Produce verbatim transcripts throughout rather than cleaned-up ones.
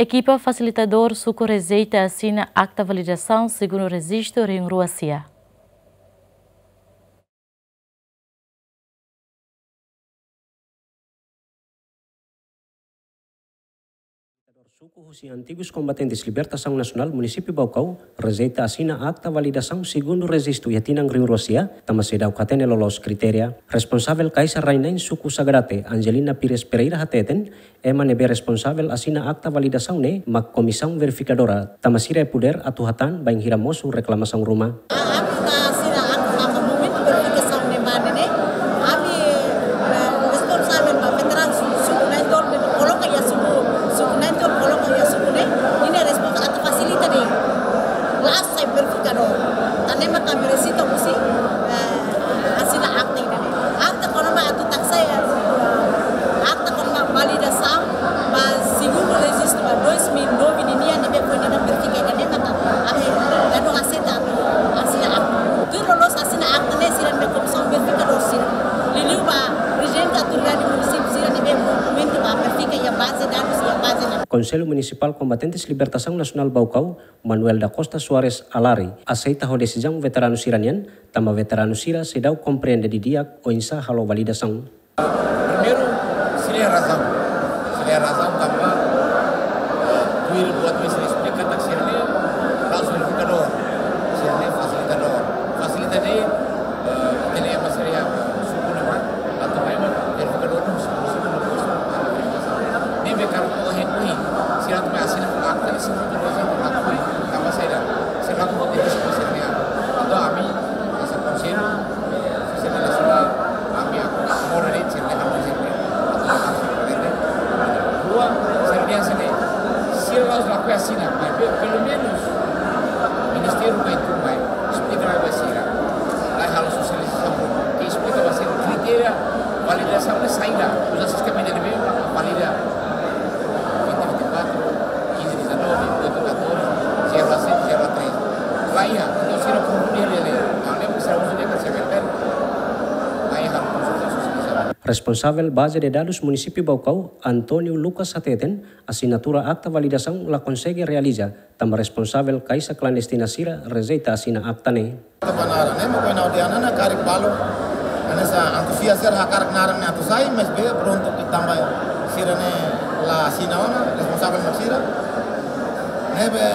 Ekipa fasilitadór suku rejeita asina akta validasaun segundu rejistu rihun rua sia. Suku husi Antigus Kombatentes Libertasaun Nasionál Munisípiu Baucau rejeita asina akta validasaun segundu rejistu iha tinan rihun rua sia, tanba seidauk hatene loloos kritéria. Responsavel Kaixa Rai-Na'in Suku Sagadate, Angelina Pires Pereira hateten, ema ne'ebé responsavel asina akta validasaun ne'e mak Komisaun Verifikadora, tanba sira iha podér atu hatán bainhira mosu reklamasaun ruma. Ami atu asina akta, tanba momentu verifikasaun ne'e ba ne'e, ami, eh, responsavel ba veteranu suku, suku na'in-tolu ne'e koloka iha suku, suku na'in-tolu koloka iha suku ne'e, nia responsavel atu fasilita de'it. La'ós sai verifikadór. Tan ne'e mak ami rejeita husi, eh, asina akta ida-ne'e. Akta kona-ba atu taksai, eh, akta kona-ba validasaun ba segundu rejistu ba dois mil e nove ninian ne'ebé foin nia verifika ida-ne'e maka ami ladún aseita asina akta. Tuir loloos asina akta ne'e sira ne'ebé komisaun verifikadór sira. Liuliu ba prezidente autoridade munisípiu sira ne'ebé momentu ba verifika iha baze dadus iha baze ne'e. Konsellu Munisipál Kombatentes Libertasaun Nasionál Baucau, Manuel da Costa Soares Alari, aseita ho desizaun veteranu sira nian, tanba veteranu sira seidauk komprende didi'ak oinsá halo validasaun. Primeiru, sira iha razaun. Sira iha razaun tanba, eh, tuir buat ne'ebé sira esplika katak sira ne'e la'ós verifikadór, sira ne'e fasilitadór. Fasilita de'it, eh, ita-nia ema sira iha suku ne'ebá, atu mai ema verifikadór ne'e suku, suku ne'e postu, ah, verifikasaun. Ne'ebé karik ohin, ohin, sira atu mai asina akta ne'e sira atu mai asina akta ne'e, tanba saida, sira atu mai asina sira ne'e. Entaun ami, hanesan konsellu, eh, sira ne'e la sira, ami atu mora de'it, sira ne'e halo sira ne'e. Rua, sira ne'e hanesan ne'e, sira la'ós lakohi asina, maibé, pelumenus, ministériu mai tun mai, esplika mai ba sira. Lai halo sosializasaun, ke esplika ba sira kritéria validasaun ne'e saida, uza sistema ida-ne'ebé valida vinte vinte e quatro, quinze dezanove, oito catorze, zero a sete, zero a três. Laiha, entaun sira konfunde lele. Entaun ne'e sira uza de ka sebentar. Laiha, konsulta sosializasaun. Responsavel Baze de Dadus Munisípiu Baucau, António Lucas hateten, asinatura akta validasaun la konsege realiza, tanba responsavel kaixa klandestina sira rejeita asina akta ne'e. Tanba naran ne'e mak ohin ha'u dehan ona karik balu, hanesan antusias sira hakarak naran ne'e atu sai, maibé prontu ke tanba sira ne'e la asina ona, responsavel mak sira. Ne'ebé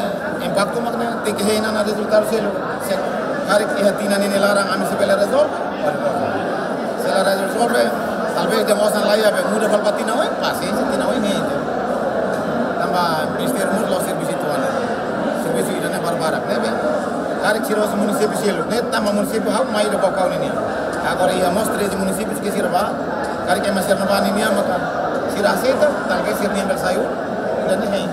impaktu mak ne'e, tenke hein ona rezultadu seluk. Se karik iha tinan ninin laran ami sei bele rezolve, rezolve. Se la rezolve, talvés demoos ona laiha be muda fali ba tinan oin, pasiénsia tinan oin hein. Tanba ministériu mós la'ós servisu uitoan. Servisu ida-ne'e barbarak. Ne'ebé karik sira hosi munisípiu seluk. Ne'e tanba munisípiu ha'u mai ida Baucau ninian. Agora iha mós treze munisípius ke sira bá. Karik ema sira ne'ebá ninian maka sira aseita, talvés sira-nian bele sai. Ida-ne'e hein.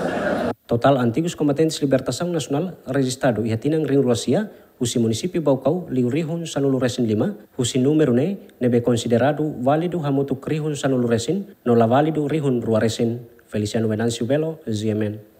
Totál Antigus Kombatentes Libertasaun Nasionál rejistadu iha tinan rihun rua sia, husi munisípiu Baucau liu rihun sanulu resin lima, husi númeru ne'e ne'ebé konsideradu válidu hamutuk rihun sanulu resin, no la válidu rihun rua resin. Feliciano Venâncio Belo, G M N.